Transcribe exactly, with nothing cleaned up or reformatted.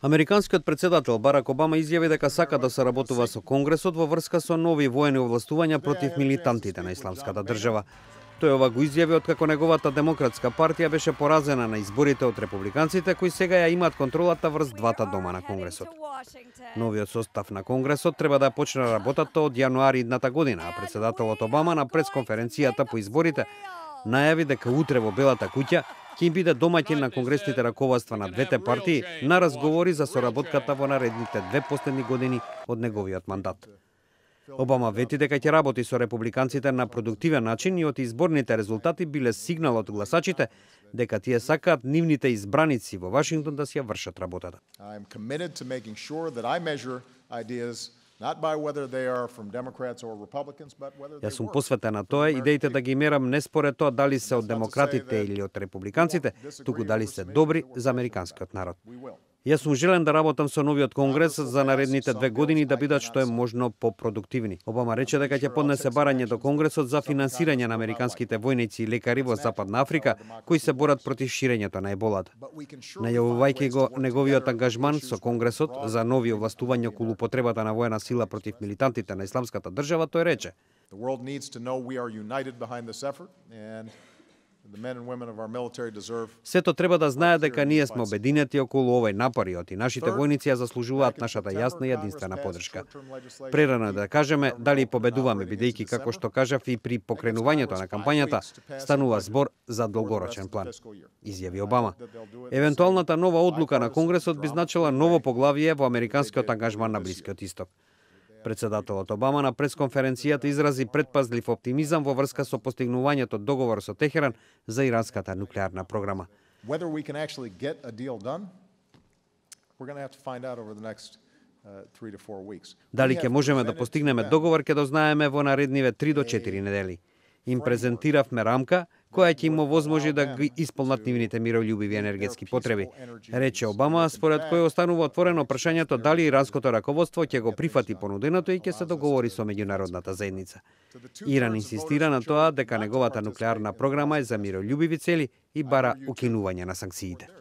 Американскиот председател Барак Обама изјави дека сака да соработува со Конгресот во врска со нови воени овластувања против милитантите на Исламската држава. Тој ова го изјави откако неговата демократска партија беше поразена на изборите од републиканците, кои сега ја имаат контролата врз двата дома на Конгресот. Новиот состав на Конгресот треба да почне работата од јануари идната година, а председателот Обама на пресконференцијата по изборите најави дека утре во Белата куќа ќе биде домаќин на конгресните раководства на двете партии на разговори за соработката во наредните две последни години од неговиот мандат. Обама вети дека ќе работи со републиканците на продуктивен начин и од изборните резултати биле сигнал од гласачите дека тие сакаат нивните избраници во Вашингтон да си ја вршат работата. Јас сум посветен на тоа идеите да ги мерам не според тоа дали се од демократите или од републиканците, туку дали се добри за американскиот народ. Јас сум желен да работам со новиот Конгрес за наредните две години да бидат што е можно попродуктивни. Обама рече дека ќе поднесе барање до Конгресот за финансирање на американските војници и лекари во Западна Африка кои се борат против ширењето на еболата. Најавувајќи го неговиот ангажман со Конгресот за нови овластувања околу потребата на воена сила против милитантите на Исламската држава, тој рече: Сето треба да знае дека ние сме обединети околу овој напорот и нашите војници ја заслужуваат нашата јасна и единствена поддршка. Прерано да кажеме дали победуваме, бидејќи како што кажав и при покренувањето на кампањата станува збор за долгорочен план, изјави Обама. Евентуалната нова одлука на Конгресот би значила ново поглавје во американскиот ангажман на Блискиот Исток. Председателот Обама на пресконференцијата изрази предпазлив оптимизам во врска со постигнувањето договор со Техеран за иранската нуклеарна програма. Дали ќе можеме да постигнеме договор ќе дознаеме во наредниве три до четири недели. Им презентиравме рамка која ќе им овозможи да ги исполнат нивните мирољубиви енергетски потреби, рече Обама, според кој останува отворено прашањето дали иранското раководство ќе го прифати понуденото и ќе се договори со меѓународната заедница. Иран инсистира на тоа дека неговата нуклеарна програма е за мирољубиви цели и бара укинување на санкциите.